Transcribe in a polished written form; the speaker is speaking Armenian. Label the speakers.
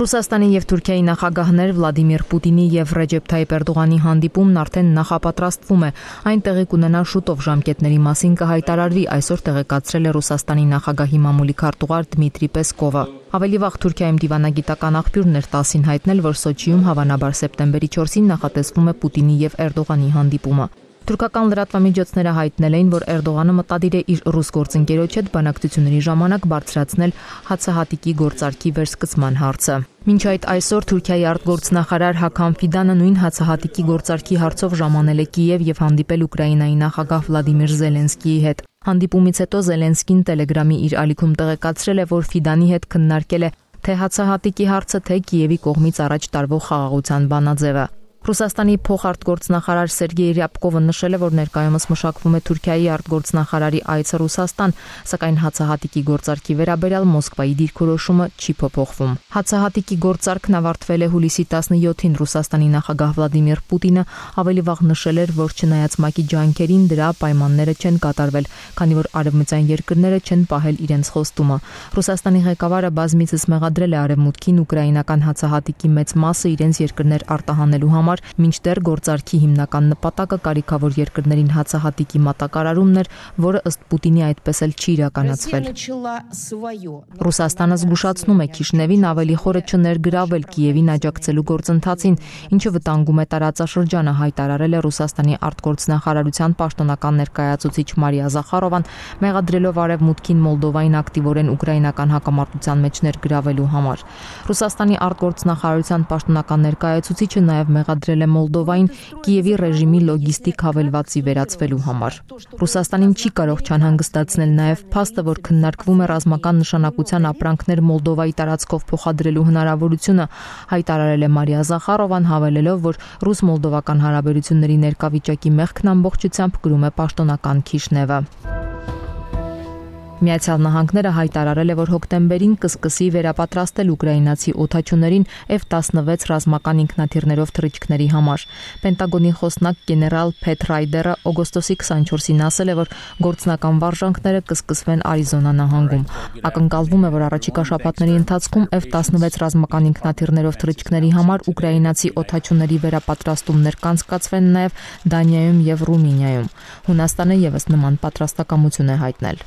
Speaker 1: Ռուսաստանի եւ Թուրքիայի նախագահներ Վլադիմիր Պուտինի եւ Ռեջեփ Թայիփ Էրդողանի հանդիպումն արդեն նախապատրաստվում է։ Այն տեղի կունենա շուտով, ժամկետների մասին կհայտարարվի, այսօր տեղեկացրել է Ռուսաստանի նախագահի մամուլի քարտուղար Դմիտրի Պեսկովը։ Ավելի վաղ Թուրքիայում դիվանագիտական աղբյուրներ տասին հայտնել, որ Սոչիում հավանաբար սեպտեմբերի 4-ին նախատեսվում է Պուտինի եւ Էրդողանի հանդիպումը։ Թուրքական լրատվամիջոցները հայտնել էին, որ Էրդողանը մտադիր է իր ռուս գործընկերոջ հետ բանակցությունների ժամանակ բարձրացնել հացահատիկի գործարքի վերսկսման հարցը։ Մինչ այդ այսօր Թուրքիայի արտգործնախարար Հաքամ Ֆիդանը նույն հացահատիկի գործարքի հարցով ժամանել է Կիև եւ հանդիպել Ուկրաինայի նախագահ Վլադիմիր Զելենսկիի հետ։ Հանդիպումից հետո Զելենսկին Տելեգրամի իր ալիքում տեղեկացրել է, որ Ֆիդանի հետ քննարկել է թե հացահատիկի հարցը, թե Կիևի կողմից առաջ տարվող խաղաղության բանաձևը։ Ռուսաստանի փոխարտգործնախարար Սերգեյ Ռյաբկովը նշել է, որ ներկայումս մշակվում է Թուրքիայի արտգործնախարարի այցը Ռուսաստան, սակայն հացահատիկի գործարքի վերաբերյալ Մոսկվայի դիրքորոշումը չի փոփոխվում։ Հացահատիկի գործարքն ավարտվել է հուլիսի 17-ին։ Ռուսաստանի նախագահ Վլադիմիր Պուտինը ավելի վաղ նշել էր, որ չնայած ՄԱԿ-ի ջանքերին դրա պայմանները չեն կատարվել, քանի որ արևմտյան երկրները չեն պահել իրենց խոստումը։ Ռուսաստանի ղեկավարը բազմիցս մեղադրել է Արևմուտքին ուկրաինական հացահատիկի մեծ մասը իրենց երկրներ արտահանելու համար, մինչդեռ գործարքի հիմնական նպատակը կարիքավոր երկրներին հացահատիկի մատակարարումն էր, որը ըստ Պուտինի այդպես էլ չի իրականացվել։ Ռուսաստանը զգուշացնում է Քիշնևին ավելի խորը չներգրավել Կիևին աջակցելու գործընթացին, ինչը վտանգում է տարածաշրջանը, հայտարարել է Ռուսաստանի արտգործնախարարության պաշտոնական ներկայացուցիչ Մարիա Զախարովան, մեղադրելով Արևմուտքին Մոլդովային ակտիվորեն ուկրաինական հակամարտության մեջ ներգրավելու համար։ Ռուսաստանի արտգործնախարարության պաշտոնական ներկայացուցիչը նաև մեղադրել է Մոլդովային Կիևի ռեժիմի լոգիստիկ հավելվածի վերածվելու համար։ Ռուսաստանին չի կարող չանհանգստացնել նաև փաստը, որ քննարկվում է ռազմական նշանակության ապրանքներ Մոլդովայի տարածքով փոխադրելու հնարավորությունը, հայտարարել է Մարիա Զախարովան, հավելելով, որ ռուս-մոլդովական հարաբերությունների ներկա վիճակի մեղքն ամբողջությամբ կրում է պաշտոնական Քիշնևը։ Միացյալ Նահանգները հայտարարել է, որ հոկտեմբերին կսկսի վերապատրաստել ուկրաինացի օդաչուներին F-16 ռազմական ինքնաթիռներով թռիչքների համար։ Պենտագոնի խոսնակ գեներալ Փեթ Ռայդերը օգոստոսի 24-ին ասել է, որ գործնական վարժանքները կսկսվեն Արիզոնա նահանգում։ Ակնկալվում է, որ առաջիկա շաբաթների ընթացքում F-16 ռազմական ինքնաթիռներով թռիչքների համար ուկրաինացի օդաչուների վերապատրաստումներ կանցկացվեն նաև Դանիայում եւ Ռումինիայում։ Հունաստանը եւս նման պատրաստակամություն է հայտնել։